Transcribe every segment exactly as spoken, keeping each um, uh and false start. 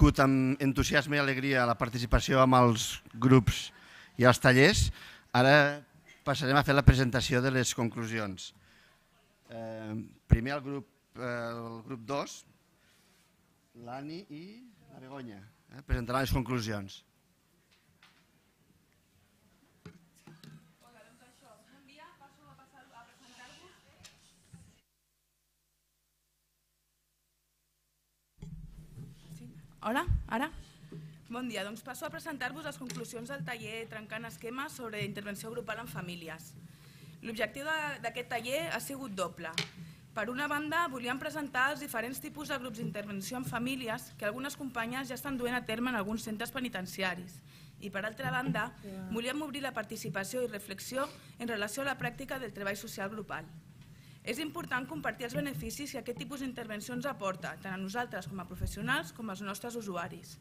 viscut amb entusiasme i alegria la participació amb els grups i els tallers, ara passarem a fer la presentació de les conclusions. Primer el grup dos, l'Ani i la Begoña presentaran les conclusions. Hola, ara? Bon dia, doncs passo a presentar-vos les conclusions del taller Trencant esquemes sobre intervenció grupal en famílies. L'objectiu d'aquest taller ha sigut doble. Per una banda, volíem presentar els diferents tipus de grups d'intervenció en famílies que algunes companyes ja estan duent a terme en alguns centres penitenciaris. I per altra banda, volíem obrir la participació i reflexió en relació a la pràctica del treball social grupal. És important compartir els beneficis que aquest tipus d'intervencions aporta, tant a nosaltres com a professionals com als nostres usuaris.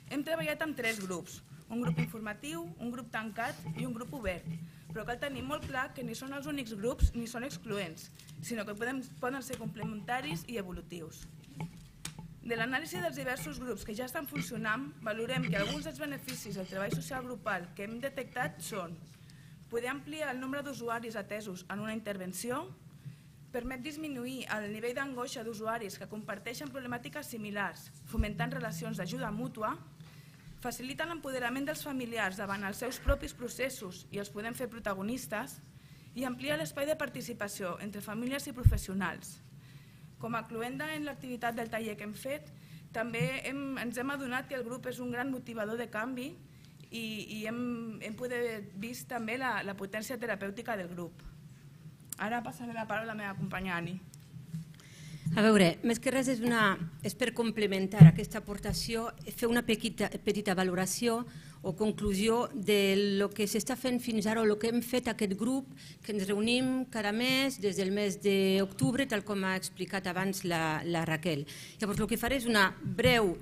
Hem treballat amb tres grups, un grup informatiu, un grup tancat i un grup obert, però cal tenir molt clar que ni són els únics grups ni són excloents, sinó que poden ser complementaris i evolutius. De l'anàlisi dels diversos grups que ja estan funcionant, valorem que alguns dels beneficis del treball social grupal que hem detectat són poder ampliar el nombre d'usuaris atesos en una intervenció, permet disminuir el nivell d'angoixa d'usuaris que comparteixen problemàtiques similars, fomentant relacions d'ajuda mútua, facilita l'empoderament dels familiars davant els seus propis processos i els podem fer protagonistes, i amplia l'espai de participació entre famílies i professionals. Com a cloenda en l'activitat del taller que hem fet, també ens hem adonat que el grup és un gran motivador de canvi i hem vist també la potència terapèutica del grup. Ara passaré la paraula a la meva companya Ani. A veure, més que res és per complementar aquesta aportació, fer una petita valoració o conclusió del que s'està fent fins ara o el que hem fet aquest grup, que ens reunim cada mes des del mes d'octubre, tal com ha explicat abans la Raquel. Llavors, el que faré és una breu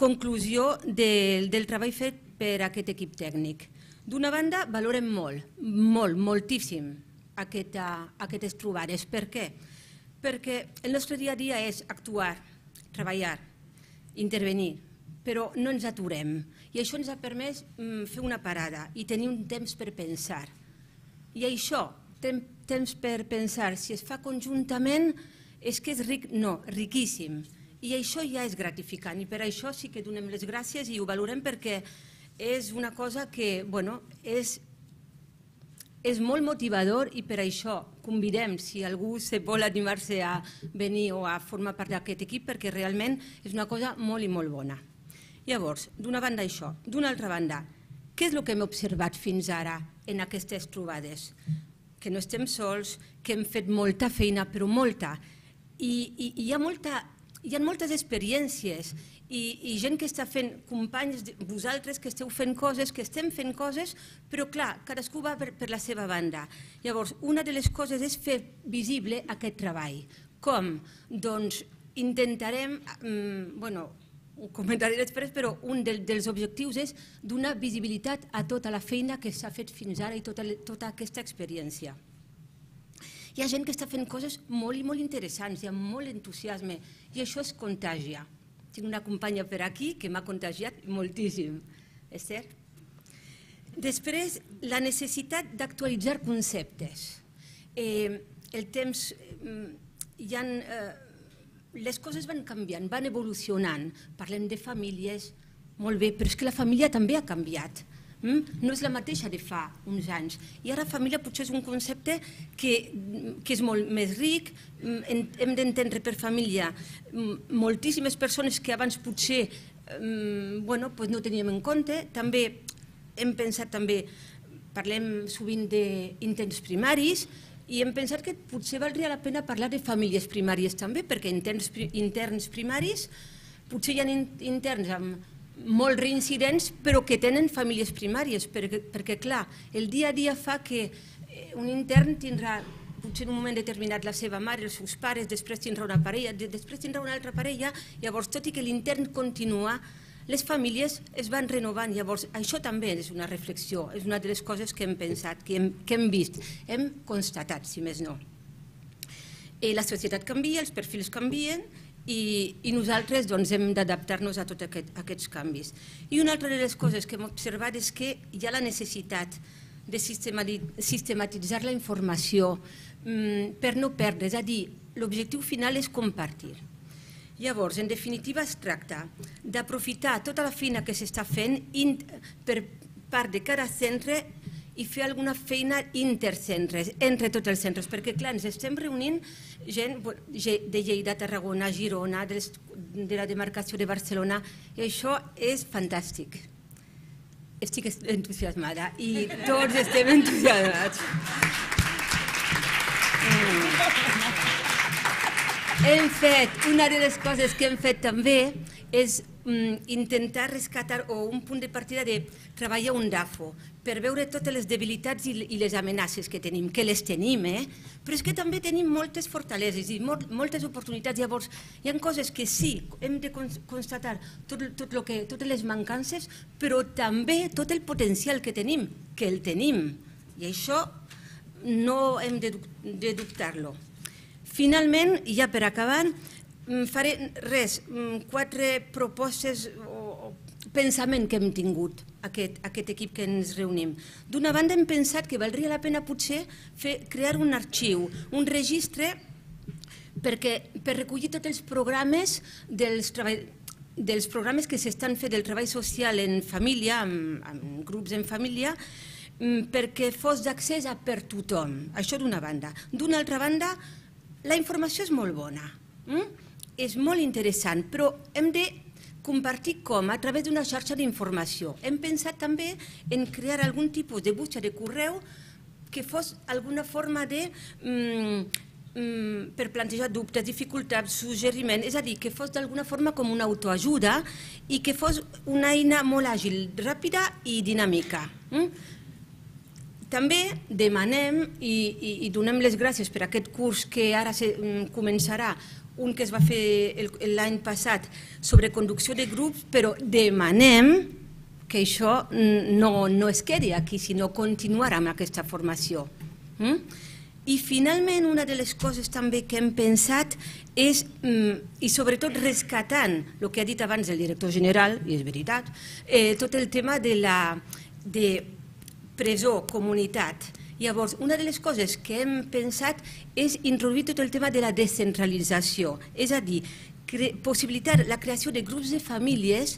conclusió del treball fet per aquest equip tècnic. D'una banda, valorem molt, molt, moltíssim, aquestes trobades. Per què? Perquè el nostre dia a dia és actuar, treballar, intervenir, però no ens aturem. I això ens ha permès fer una parada i tenir un temps per pensar. I això, temps per pensar, si es fa conjuntament, és que és ric? No, riquíssim. I això ja és gratificant i per això sí que donem les gràcies i ho valorem perquè és una cosa que, bueno, és És molt motivador i per això convidem, si algú vol animar-se a venir o a formar part d'aquest equip, perquè realment és una cosa molt i molt bona. Llavors, d'una banda això. D'una altra banda, què és el que hem observat fins ara en aquestes trobades? Que no estem sols, que hem fet molta feina, però molta. I hi ha moltes experiències i gent que està fent, companys, vosaltres que esteu fent coses, que estem fent coses, però clar, cadascú va per la seva banda. Llavors, una de les coses és fer visible aquest treball. Com? Doncs intentarem, bueno, ho comentaré després, però un dels objectius és donar visibilitat a tota la feina que s'ha fet fins ara i tota aquesta experiència. Hi ha gent que està fent coses molt i molt interessants, hi ha molt entusiasme i això es contagia. Tinc una companya per aquí que m'ha contagiat moltíssim, és cert? Després, la necessitat d'actualitzar conceptes. El temps, les coses van canviant, van evolucionant. Parlem de famílies, molt bé, però és que la família també ha canviat. No és la mateixa de fa uns anys. I ara família potser és un concepte que és molt més ric, hem d'entendre per família moltíssimes persones que abans potser no teníem en compte. També hem pensat, també parlem sovint d'interns primaris i hem pensat que potser valdria la pena parlar de famílies primàries també, perquè interns primaris potser hi ha interns amb molt reincidents, però que tenen famílies primàries, perquè, clar, el dia a dia fa que un intern tindrà, potser en un moment determinat, la seva mare, els seus pares, després tindrà una parella, després tindrà una altra parella, llavors, tot i que l'intern continua, les famílies es van renovant, llavors, això també és una reflexió, és una de les coses que hem pensat, que hem vist, hem constatat, si més no. La societat canvia, els perfils canvien, i nosaltres hem d'adaptar-nos a tots aquests canvis. I una altra de les coses que hem observat és que hi ha la necessitat de sistematitzar la informació per no perdre, és a dir, l'objectiu final és compartir. Llavors, en definitiva, es tracta d'aprofitar tota la feina que s'està fent per part de cada centre i fer alguna feina intercentres, entre tots els centres, perquè, clar, ens estem reunint gent de Lleida, Tarragona, Girona, de la demarcació de Barcelona, i això és fantàstic. Estic entusiasmada i tots estem entusiasmats. Hem fet, una de les coses que hem fet també és intentar rescatar o un punt de partida de treballar un D A F O per veure totes les debilitats i les amenaces que tenim, que les tenim, però és que també tenim moltes fortaleses i moltes oportunitats. Llavors, hi ha coses que sí, hem de constatar totes les mancances, però també tot el potencial que tenim, que el tenim, i això no hem de dubtar-lo. Finalment, ja per acabar, faré res, quatre propostes o pensament que hem tingut, aquest equip que ens reunim. D'una banda, hem pensat que valdria la pena potser crear un arxiu, un registre per recollir tots els programes dels programes que s'estan fent del treball social en família, en grups en família, perquè fos d'accés a per tothom. Això d'una banda. D'una altra banda, la informació és molt bona, és molt interessant, però hem de compartir com? A través d'una xarxa d'informació. Hem pensat també en crear algun tipus de butxa de correu que fos alguna forma de, per plantejar dubtes, dificultats, suggeriments, és a dir, que fos d'alguna forma com una autoajuda i que fos una eina molt àgil, ràpida i dinàmica. També demanem i donem les gràcies per aquest curs que ara començarà, un que es va fer l'any passat sobre conducció de grups, però demanem que això no es quedi aquí, sinó continuar amb aquesta formació. I finalment, una de les coses també que hem pensat és, i sobretot rescatant el que ha dit abans el director general, i és veritat, tot el tema de la presó, comunitat. Llavors, una de les coses que hem pensat és introduir tot el tema de la descentralització, és a dir, possibilitar la creació de grups de famílies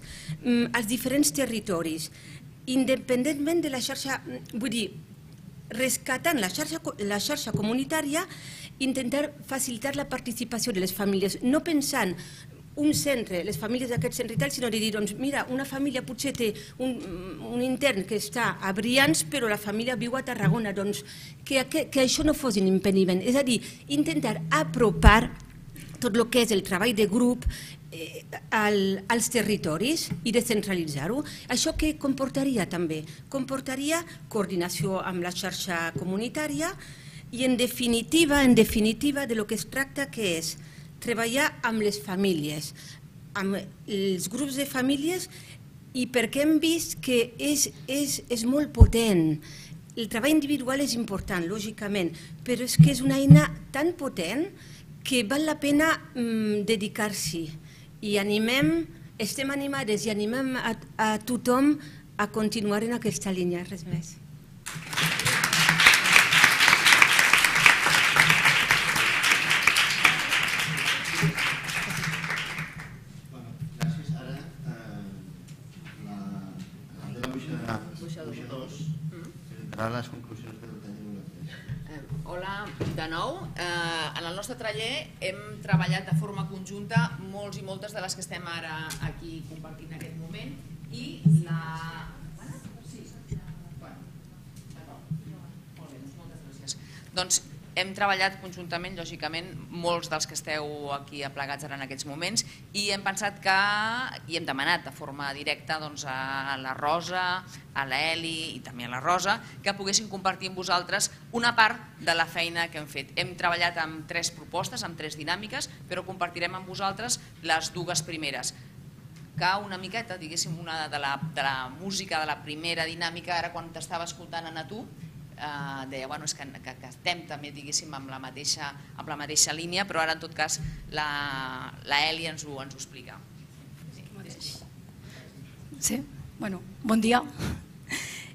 als diferents territoris, independentment de la xarxa, vull dir, rescatant la xarxa comunitària, intentar facilitar la participació de les famílies, no pensant un centre, les famílies d'aquest centre i tal, sinó de dir, doncs mira, una família potser té un intern que està a Brians, però la família viu a Tarragona, doncs que això no fos un impediment. És a dir, intentar apropar tot el que és el treball de grup als territoris i descentralitzar-ho. Això què comportaria també? Comportaria coordinació amb la xarxa comunitària i en definitiva, en definitiva, de lo que es tracta que és treballar amb les famílies, amb els grups de famílies, i perquè hem vist que és molt potent. El treball individual és important, lògicament, però és que és una eina tan potent que val la pena dedicar-s'hi. I animem, estem animades i animem a tothom a continuar en aquesta línia, res més. Les conclusions del taller. Hola, de nou. En el nostre taller hem treballat de forma conjunta molts i moltes de les que estem ara aquí compartint en aquest moment i la... Sí. Bueno, d'acord. Molt bé, moltes gràcies. Doncs hem treballat conjuntament, lògicament, molts dels que esteu aquí aplegats ara en aquests moments i hem pensat que, i hem demanat de forma directa a la Rosa, a l'Eli i també a la Rosa, que poguessin compartir amb vosaltres una part de la feina que hem fet. Hem treballat amb tres propostes, amb tres dinàmiques, però compartirem amb vosaltres les dues primeres. Que una miqueta, diguéssim, una de la música de la primera dinàmica, ara quan t'estava escoltant, Anna, tu, deia que estem també amb la mateixa línia, però ara en tot cas l'Eli ens ho explica. Sí, bueno, bon dia.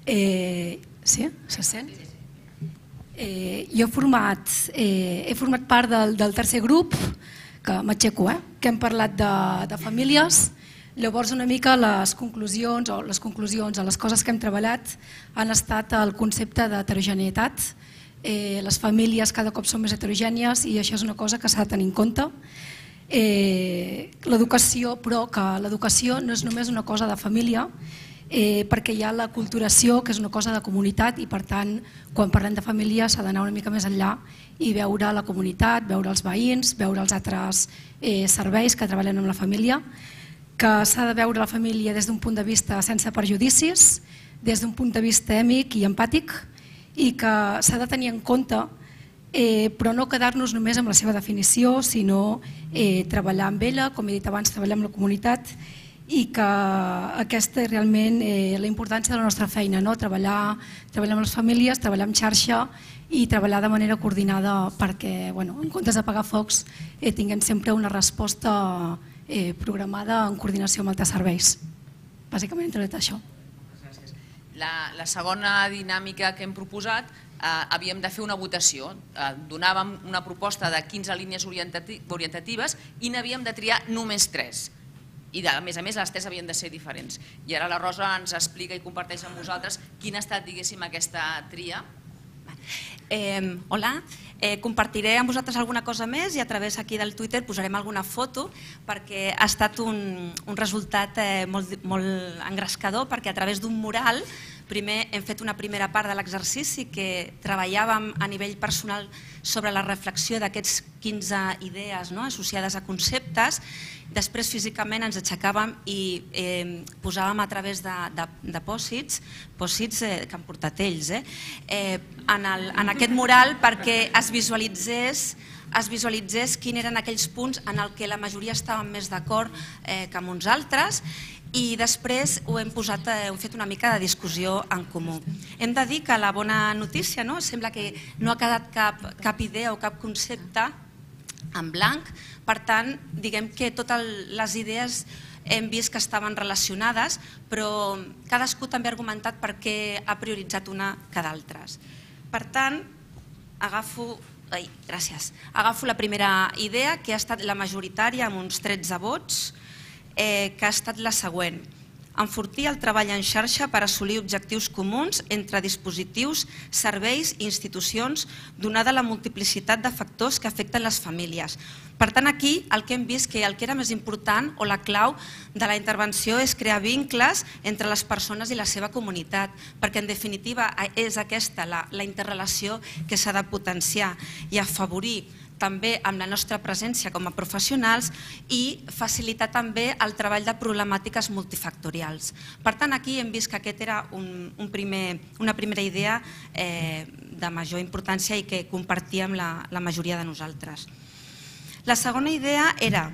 Sí, se sent? Jo he format part del tercer grup, que m'aixeco, que hem parlat de famílies. Llavors una mica les conclusions o les conclusions a les coses que hem treballat han estat el concepte d'heterogeneïtat. Les famílies cada cop són més heterogènies i això és una cosa que s'ha de tenir en compte. L'educació, però que l'educació no és només una cosa de família, perquè hi ha l'aculturació, que és una cosa de comunitat, i per tant, quan parlem de família s'ha d'anar una mica més enllà i veure la comunitat, veure els veïns, veure els altres serveis que treballen amb la família, que s'ha de veure la família des d'un punt de vista sense perjudicis, des d'un punt de vista èmic i empàtic, i que s'ha de tenir en compte, però no quedar-nos només amb la seva definició, sinó treballar amb ella, com he dit abans, treballar amb la comunitat, i que aquesta és realment la importància de la nostra feina, treballar amb les famílies, treballar en xarxa i treballar de manera coordinada perquè, en comptes d'apagar focs, tinguem sempre una resposta programada en coordinació amb altres serveis. Bàsicament entre tot això. La segona dinàmica que hem proposat, havíem de fer una votació. Donàvem una proposta de quinze línies orientatives i n'havíem de triar només tres. I a més a més les tres havien de ser diferents. I ara la Rosa ens explica i comparteix amb vosaltres quina ha estat, diguéssim, aquesta tria. Hola, compartiré amb vosaltres alguna cosa més i a través aquí del Twitter posarem alguna foto perquè ha estat un resultat molt engrescador, perquè a través d'un mural primer hem fet una primera part de l'exercici que treballàvem a nivell personal sobre la reflexió d'aquests quinze idees associades a conceptes. Després físicament ens aixecàvem i posàvem a través de pòssits, pòssits que han portat ells, en aquest mural perquè es visualitzés es visualitzés quins eren aquells punts en què la majoria estàvem més d'acord que amb uns altres, i després ho hem posat, hem fet una mica de discussió en comú. Hem de dir que la bona notícia, sembla que no ha quedat cap idea o cap concepte en blanc, per tant, diguem que totes les idees hem vist que estaven relacionades, però cadascú també ha argumentat per què ha prioritzat una que d'altres. Per tant, agafo Ai, gràcies. Agafo la primera idea, que ha estat la majoritària, amb uns tretze vots, que ha estat la següent. Enfortir el treball en xarxa per assolir objectius comuns entre dispositius, serveis i institucions, donada la multiplicitat de factors que afecten les famílies. Per tant, aquí el que hem vist que el que era més important o la clau de la intervenció és crear vincles entre les persones i la seva comunitat, perquè en definitiva és aquesta la interrelació que s'ha de potenciar i afavorir també amb la nostra presència com a professionals i facilitar també el treball de problemàtiques multifactorials. Per tant, aquí hem vist que aquesta era una primera idea de major importància i que compartíem la majoria de nosaltres. La segona idea era,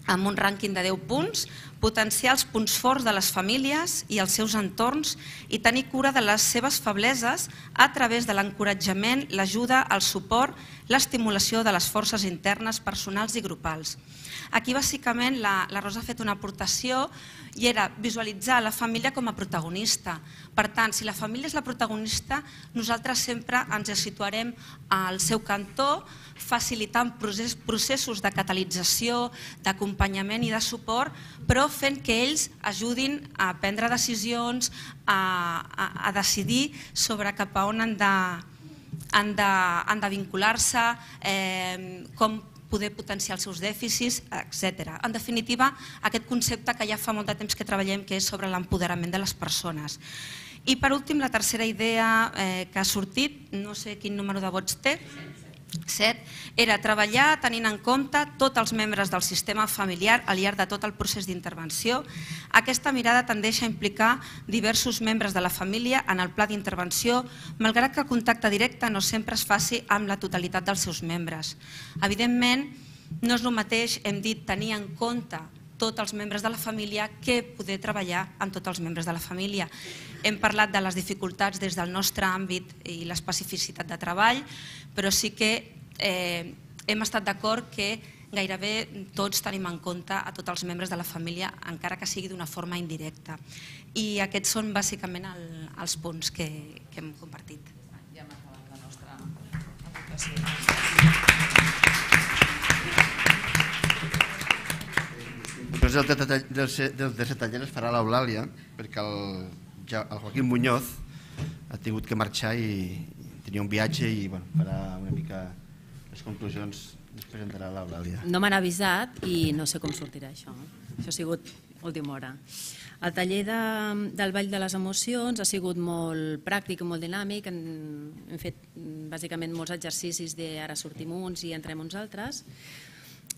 amb un rànquing de deu punts, potenciar els punts forts de les famílies i els seus entorns i tenir cura de les seves febleses a través de l'encoratjament, l'ajuda, el suport, l'estimulació de les forces internes, personals i grupals. Aquí, bàsicament, la Rosa ha fet una aportació i era visualitzar la família com a protagonista. Per tant, si la família és la protagonista, nosaltres sempre ens situarem al seu cantó, facilitant processos de catalització, d'acompanyament i de suport, però fent que ells ajudin a prendre decisions, a decidir sobre cap a on han de vincular-se, com poder potenciar els seus dèficits, etcètera. En definitiva, aquest concepte que ja fa molt de temps que treballem, que és sobre l'empoderament de les persones. I per últim, la tercera idea que ha sortit, no sé quin número de vots té, set, era treballar tenint en compte tots els membres del sistema familiar al llarg de tot el procés d'intervenció. Aquesta mirada tendeix a implicar diversos membres de la família en el pla d'intervenció, malgrat que el contacte directe no sempre es faci amb la totalitat dels seus membres. Evidentment, no és el mateix, hem dit, tenir en compte tots els membres de la família que poder treballar amb tots els membres de la família. Hem parlat de les dificultats des del nostre àmbit i l'especificitat de treball, però sí que eh, hem estat d'acord que gairebé tots tenim en compte a tots els membres de la família, encara que sigui d'una forma indirecta. I aquests són bàsicament el, els punts que, que hem compartit. Ja hem acabat la nostra aportació. Després del tercer taller es farà l'Eulàlia, perquè el, ja, el Joaquín Muñoz ha tingut que marxar i tenia un viatge i bueno, farà una mica les conclusions. Es presentarà l'Eulàlia. No m'han avisat i no sé com sortirà això. Això ha sigut última hora. El taller de, del Ball de les Emocions ha sigut molt pràctic i molt dinàmic. Hem, hem fet bàsicament molts exercicis de ara sortim uns i entrem uns altres.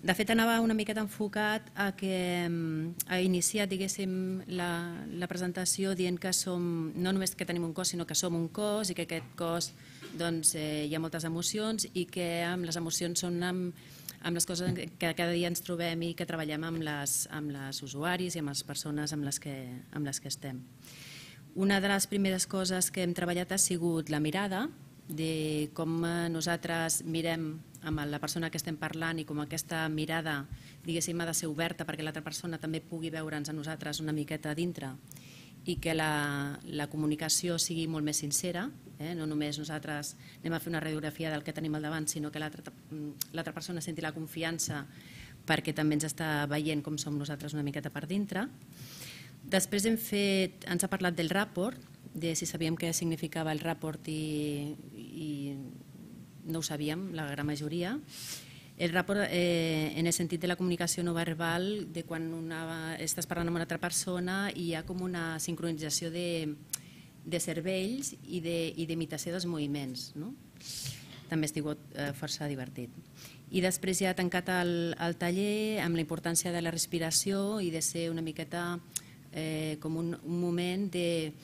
De fet, anava una miqueta enfocat a que ha iniciat, diguéssim, la, la presentació dient que som, no només que tenim un cos, sinó que som un cos i que aquest cos doncs, eh, hi ha moltes emocions i que amb les emocions són amb, amb les coses que cada dia ens trobem i que treballem amb les, amb les usuaris i amb les persones amb les, que, amb les que estem. Una de les primeres coses que hem treballat ha sigut la mirada, de com nosaltres mirem amb la persona que estem parlant i com aquesta mirada, diguéssim, ha de ser oberta perquè l'altra persona també pugui veure'ns a nosaltres una miqueta dintre i que la, la comunicació sigui molt més sincera, eh? No només nosaltres anem a fer una radiografia del que tenim al davant, sinó que l'altra persona senti la confiança perquè també ens està veient com som nosaltres una miqueta per dintre. Després hem fet, ens ha parlat del rapport, de si sabíem què significava el rapport i, i no ho sabíem, la gran majoria. El rapport, eh, en el sentit de la comunicació no verbal, de quan una, estàs parlant amb una altra persona i hi ha com una sincronització de, de cervells i d'imitació de, dels moviments. No? També ha sigut eh, força divertit. I després ja ha tancat el, el taller amb la importància de la respiració i de ser una miqueta eh, com un, un moment de,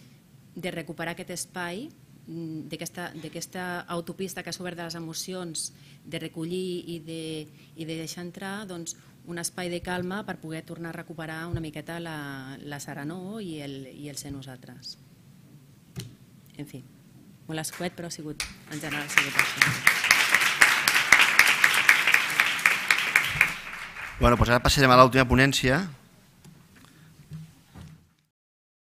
de recuperar aquest espai d'aquesta autopista que s'ha obert de les emocions, de recollir i de, i de deixar entrar doncs, un espai de calma per poder tornar a recuperar una miqueta la, la serenor i el, i el ser nosaltres. En fi, molt escuet, però ha sigut, en general ha sigut això. Bueno, doncs ara passarem a l'última ponència,